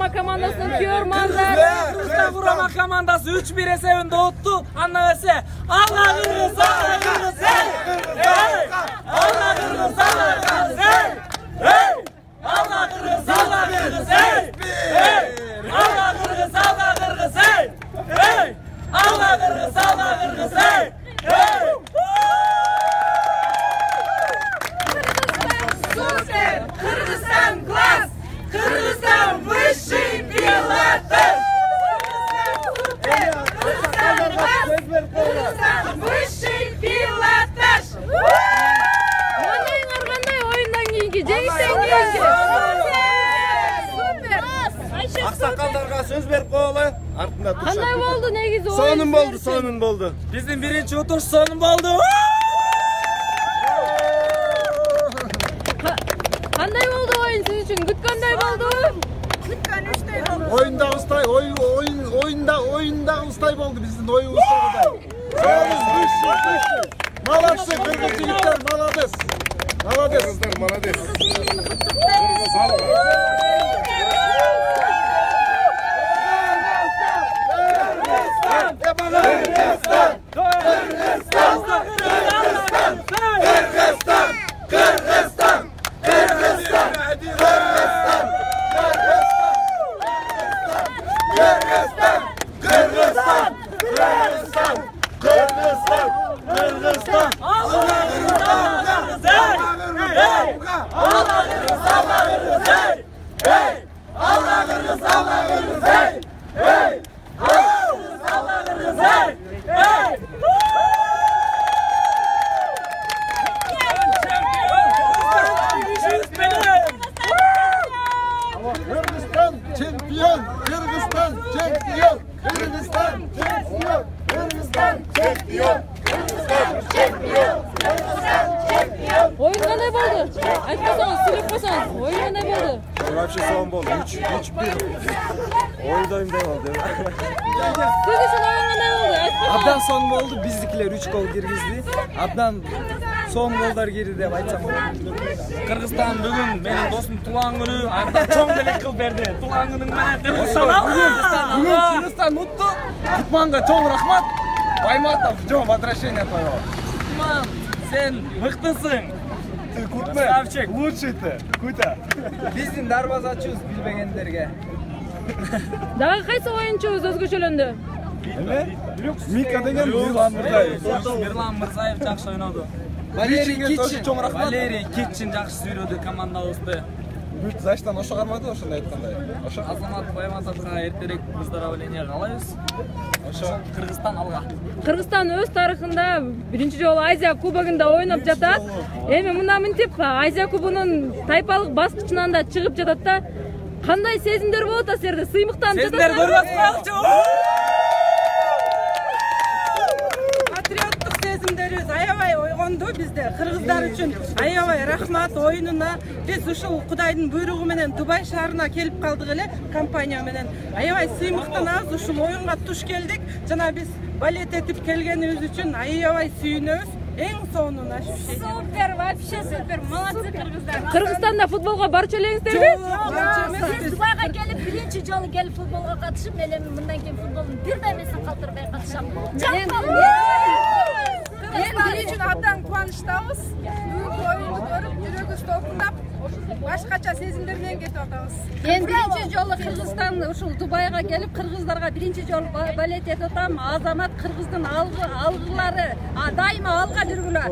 Курама командасынын күйөрмандары. Кыргызстан курама командасы 3-1 эсебинде отtu. Анда берсе алла Кыргыз, алла Кыргыз, алла Кыргыз, алла Кыргыз, алла Кыргыз, алла Кыргыз, alла Кыргыз, алла Кыргыз, alла Кыргыз, алла Кыргыз, Супер! Кыргызстан класс! Кыргызстан высший пилотаж! Кыргызстан класс! Кыргызстан высший пилотаж! Мындай кандай оюндан кийинки, жеңиштен кийинки? Супер! Аксакалдарга сөз берип коелу. Артында турушат. Кандай болду негизи оюн? Сонун болду. Биздин биринчи утуш сонун болду. Кандай болду оюн сиз үчүн? Күткөндөй болду? Күткөнүчтөй болду. Оюндагы устай болду биздин оюбуздагыдай. Молодцы, кыргыз жигиттер, молодец. Кыргыздар, молодец. Oyun kандай болду? Айтпасаңыз, сүйлөп койсоңуз. Oyun кандай болду? Вообще сонун болду. 3-1. Ойдоймдай болду. Сиз үчүн oyun кандай болду? Айтпасаңыз. Абдан сонун болду. Биздикилер 3 гол киргизди. Абдан сонун голдар кирди деп айтсам болот. Кыргызстан бүгүн менин досум туулган күнү, анда чоң белек кылып берди. Туулган күнүң менен Кыргызстан Кыргызстан утту. Кутманга чоң рахмат. Байматов жо возвращение твоего. Кутман, сен мыктысың. Красавчик, лучший ты. Куйта. Биздин дарбазачыбыз билбегендерге. Дагы кайсы оюнчубуз өзгөчөлөндү? Мика деген Мирлан Мырзаев. Мирлан Мырзаев жакшы ойноду. Валерий Китчин чоң рахмат. Валерий Китчин жакшы сүйрөдү командабызды. Бүт заштан ошо кармады, ошондой айткандай. Ошо. Азамат Байматовго эртерээк поздравление каалайбыз. Ошо Кыргызстан алга. Кыргызстан өз тарыхында биринчи жолу Азия кубогунда ойноп жатат. Эми мына мынтип Азия кубогунун тайпалык баскычынан да чыгып жатат да. Кандай сезимдер болот силерде? Сыймыктанып жатат. Сезимдер көрбөс коелучу. Патриоттук сезимдерибиз аябай ойгонду бизде. Кыргыздар үчүн аябай рахмат оюнуна. Биз ушул Кудайдын буйругу менен Дубай шаарына келип калдык эле компания менен. Аябай сыймыктанабыз, ушул оюнга туш келдик. Жана биз балет этип келгенибиз үчүн аябай сүйүнөбүз. Эң сонуна Супер, вообще супер. Молодцы кыргыздар. Кыргызстанда футболго барчу элеңиздерби? Сиз Дубайга келип биринчи жолу келип футболго катышып, мен мындан кийин футболдун бир даймесин калтырбай катышам. Эл үчүн абдан кубанычтабыз. Бүгүнкү оюнду көрүп, жүрөгүбүз толкундап, башкача сезимдер менен кетип атабыз. Мен биринчи жолу Кыргызстан ушул Дубайга келип, кыргыздарга биринчи жолу балет этип атам. Азамат кыргыздын алгылары дайыма алга жүргүлө.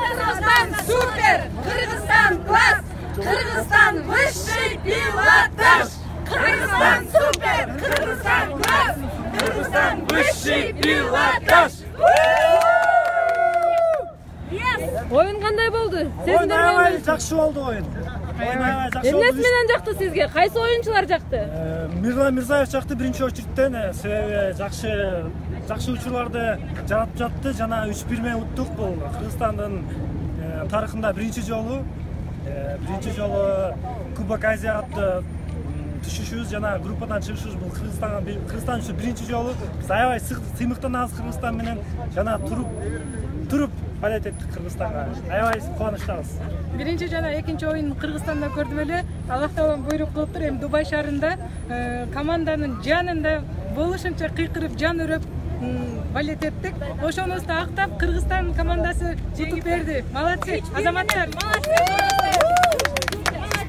Кыргызстан супер! Кыргызстан класс! Кыргызстан высший пилотаж! Кыргызстан супер! Кыргызстан класс! Кыргызстан высший пилотаж! Oyun кандай болду? Аябай жакшы болду оюн. Аябай жакшы болду. Эмнеси менен жакты сизге? Кайсы оюнчулар жакты? Мирлан Мырзаев жакты биринчи очередтен, себеби жакшы учурларды жаратып жатты. Жана 3-1 менен уттук. Бул Кыргызстандын тарыхында биринчи жолу Кубок Азия аттуу түшүшүбүз жана группадан чыгышыбыз бул Кыргызстан үчүн биринчи жолу. Биз аябай сыймыктанабыз Кыргызстан менен жана туруп балет эттик Кыргызстанга. Аябай кубанычтабыз. Биринчи жана экинчи оюн Кыргызстанда көрдүм эле. Аллах таалам буйрук кылыптыр. Эми Дубай шаарында команданын жанында болушунча кыйкырып, жан өрөп балет эттик. Ошонусу актап Кыргызстан командасы утуп берди. Молодцы, азаматтар.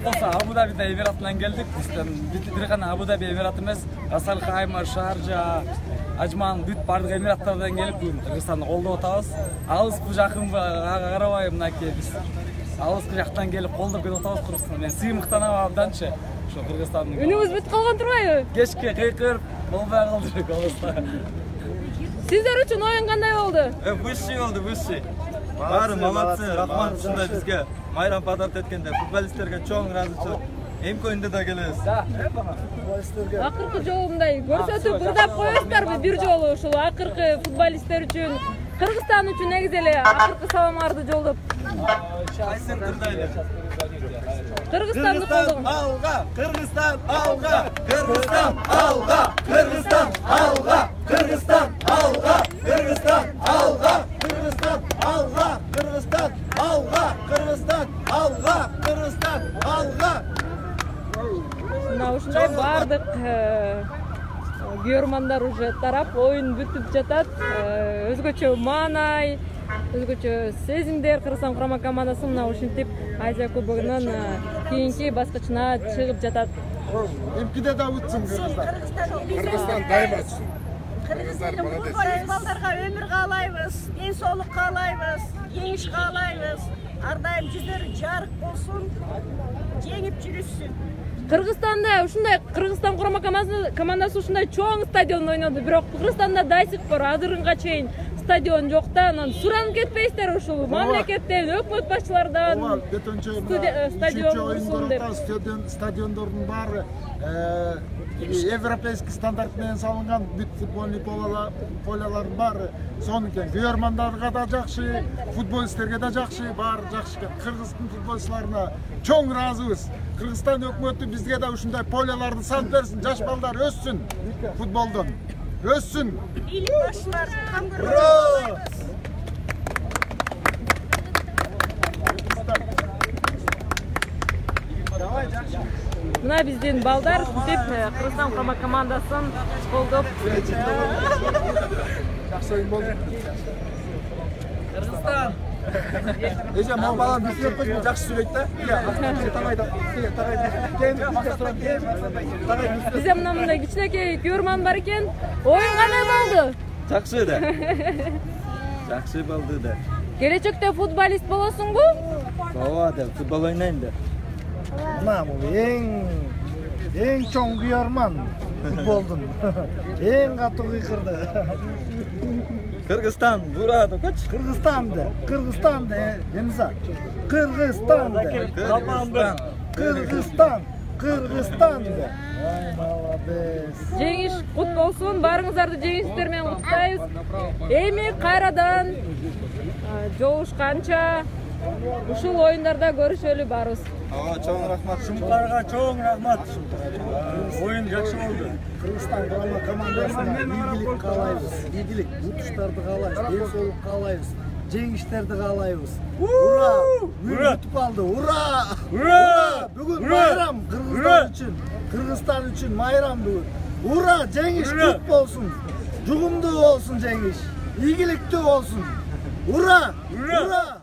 Болса Абу-Дабиде Эмиратынан келдик. Бир гана Абу-Даби Эмират эмес, Асал Хайма, Шаржа, Ажман бүт бардык Эмираттардан келип бүгүн Кыргызстанды колдоп атабыз. Алыспы жакынбы ага карабай мынакей биз алыскы жактан келип колдоп кетип атабыз Кыргызстанды. Мен сыймыктанам абданчы ошо Кыргызстандын. Үнүбүз бүт калган турбайбы? Кечке кыйкырып болбой калды голубузда. Сиздер үчүн оюн кандай болду? Высший болду, высший. Баары молодцы, рахмат ушундай бизге майрам подарок эткенде. Футболисттерге чоң ыраазычылык. Эмки оюнда да келебиз. Акыркы жолу мындай көрсөтүп ырдап коесуздарбы бир жолу ушул акыркы футболисттер үчүн, Кыргызстан үчүн негизи эле акыркы саламыңарды жолдоп. Кайсын ырдайлы. Кыргызстанды колдогон. Алга, Кыргызстан алга, Кыргызстан алга, Кыргызстан алга, Кыргызстан алга, Кыргызстан алга, Кыргызстан алга, Кыргызстан алга, Кыргызстан алга, Кыргызстан алга. Мына ушундай бардык күйөрмандар уже тарап, оюн бүтүп жатат. Өзгөчө маанай, өзгөчө сезимдер Кыргызстан курама командасы мына ушинтип Азия кубогунун кийинки баскычына чыгып жатат. Эмкиде да утсун Кыргызстан. Кыргызстан дайыма утсун. Кыргызстандын балдарга өмүр каалайбыз, ден соолук каалайбыз, жеңиш каалайбыз. Ар дайым жүздөрү жарык болсун, жеңип жүрүшсүн. Кыргызстанда ушундай Кыргызстан курама командасы ушундай чоң стадиондо ойноду, бирок Кыргызстанда да сих пор азырынга чейин стадион жок да, анан суранып кетпейсиздер ушул мамлекеттен, өкмөт башчылардан стадион курсун деп. Стадиондордун баары европейский стандарт менен салынган, бүт футбольный полялардын баары сонукен. Күйөрмандарга да жакшы, футболисттерге да жакшы, баары жакшы. Кыргыздын футболчуларына чоң ыраазыбыз. Кыргызстан өкмөтү бизге да ушундай поляларды салып берсин, жаш балдар өссүн футболдон. Өссүн. Бийлик башчылар кам көрсөтөбүз. Мына биздин балдар ушинтип Кыргызстан курама командасын колдоп. Жакшы оюн болду. Кыргызстан. Эже мал балам бизге койбой жакшы сүйлөйт да. Бизде мындай кичинекей күйөрман бар экен. Оюн кандай болду? Жакшы да. Жакшы болду да. Келечекте футболист болосуңбу? Ооба да, футбол ойнойм да. Мына бул эң чоң күйөрман футболдун. Эң катуу кыйкырды. Кыргызстан, ура, докоч. Кыргызстанды, эмза. Кыргызстанды. Кыргызстанды. Ай, молодец. Жеңиш кут болсун, баарыңыздарды жеңиштер менен куттуктайбыз. Эми кайрадан жолушканча ушул оюндарда көрүшөлү барыбыз. Чоң рахмат. Шумтарга чоң рахмат. Оюн жакшы болду. Кыргызстан курама командасына ийгилик каалайбыз. Ийгилик, утуштарды каалайбыз, ден соолук каалайбыз, жеңиштерди каалайбыз. Ура! Бүтүп алды. Ура! Ура! Бүгүн майрам Кыргызстан үчүн. Кыргызстан үчүн майрам бүгүн. Ура! Жеңиш күт болсун. Жугумдуу болсун жеңиш. Ийгиликтүү болсун. Ура! Ура!